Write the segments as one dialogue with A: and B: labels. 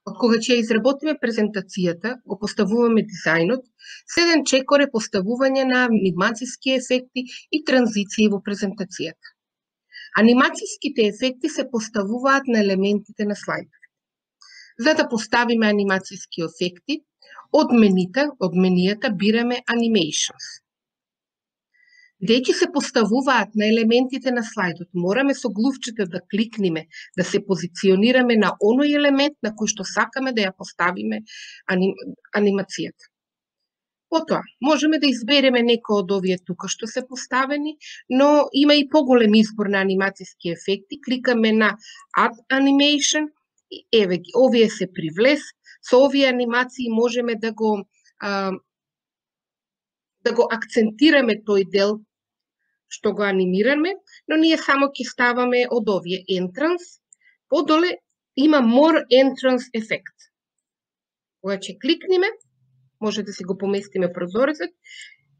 A: Од кога ќе изработиме презентацијата, го поставуваме дизајнот, следен чекор е поставување на анимацијски ефекти и транзиции во презентацијата. Анимацијските ефекти се поставуваат на елементите на слайдовите. За да поставиме анимацијски ефекти, од менијата бираме Animations. Бидејќи се поставуваат на елементите на слайдот, мораме со глувчето да кликнеме, да се позиционираме на оној елемент на кој што сакаме да ја поставиме анимацијата. Потоа, можеме да избереме некој од овие тука што се поставени, но има и поголем избор на анимацијски ефекти. Кликаме на Add Animation и еве ги, овие се привлес. Со овие анимации можеме да го акцентираме тој дел што го анимираме, но ние само ќе ставаме од овие Entrance. Подоле има More Entrance ефект. Кога ќе кликнеме, може да си го поместиме прозорецот,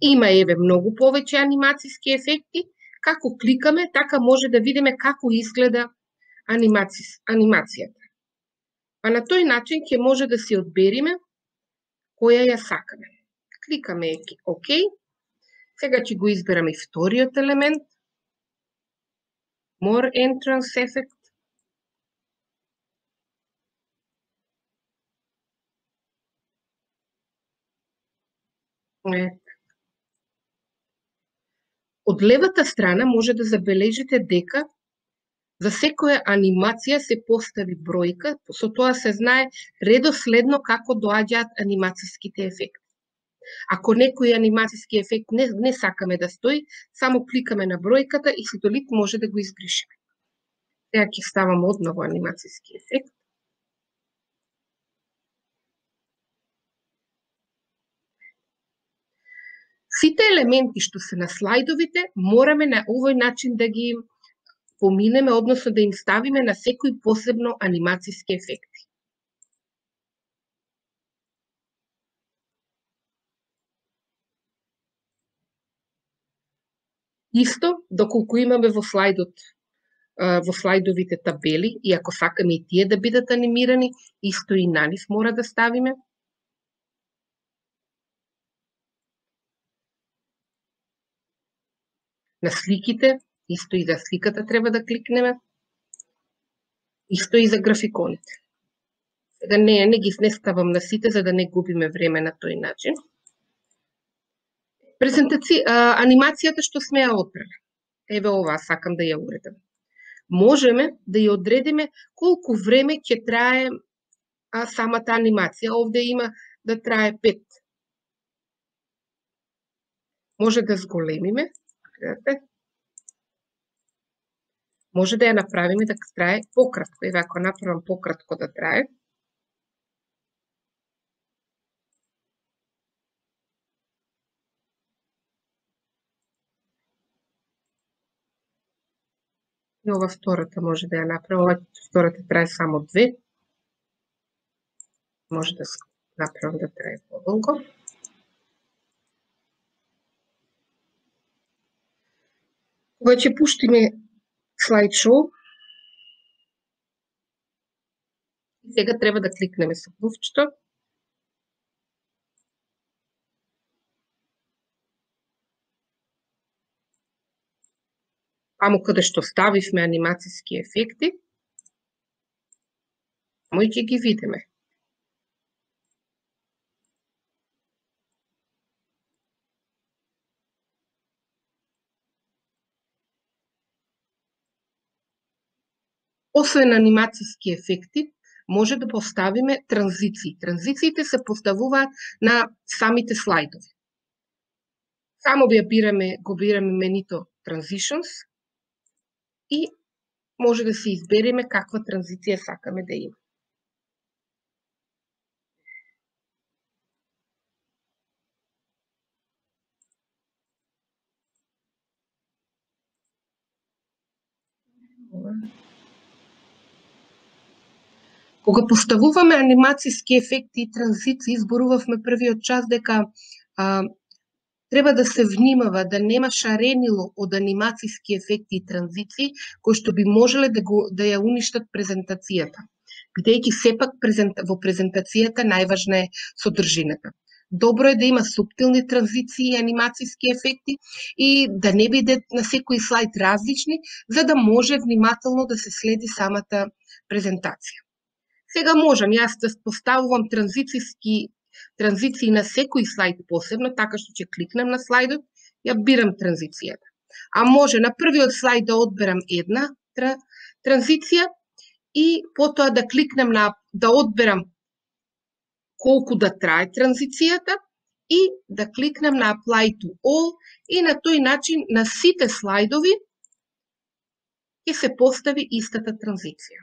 A: има еве многу повеќе анимацијски ефекти. Како кликаме, така може да видиме како изгледа анимацијата. Па на тој начин ќе може да си одбериме која ја сакаме. Кликаме ОК. Сега ќе го избераме и вториот елемент. More Entrance Effect. Од левата страна може да забележите дека за секоја анимација се постави бројка, со тоа се знае редоследно како доаѓаат анимацијските ефекти. Ако некој анимацијски ефект не сакаме да стои, само кликаме на бројката и со делит може да го избришеме. Сега ќе ставам одново анимацијски ефект. Сите елементи што се на слайдовите мораме на овој начин да ги поминеме, односно да им ставиме на секој посебно анимацијски ефекти. Исто, доколку имаме во слайдовите табели, и ако сакаме и тие да бидат анимирани, исто и на нив мора да ставиме. На сликите, исто и за сликата треба да кликнеме. Исто и за графиконите. Сега не ставам на сите, за да не губиме време на тој начин. Анимацијата што сме ја одбрали. Еве ова сакам да ја уредам. Можеме да ја одредиме колку време ќе трае самата анимација. Овде има да трае 5. Може да зголемиме. Може да ја направиме да трае пократко. Еве ако направам пократко да трае. И ова втората може да ја направам. Ова втората трае само 2. Може да направам да трае подолго. Кога ќе пуштиме слайд-шоу, сега треба да кликнеме со клувчето. Таму каде што ставивме анимацијски ефекти, мој ќе ги видиме. Освен анимацијски ефекти, може да поставиме транзиции. Транзициите се поставуваат на самите слайдови. Само го бираме менито Transitions и може да се избереме каква транзиција сакаме да има. Кога поставуваме анимацијски ефекти и транзиции, зборувавме првиот час дека треба да се внимава да нема шаренило од анимацијски ефекти и транзиции кои што би можеле да ја уништат презентацијата. бидејќи сепак во презентацијата најважна е содржината. Добро е да има суптилни транзиции и анимацијски ефекти и да не биде на секој слайд различни, за да може внимателно да се следи самата презентација. Сега можам јас да поставувам транзиции на секој слайд посебно, така што ќе кликнам на слайдот, ја бирам транзицијата. А може на првиот слайд да одберам една транзиција и потоа да кликнам да одберам колку да трае транзицијата и да кликнам на Apply to All и на тој начин на сите слайдови ќе се постави истата транзиција.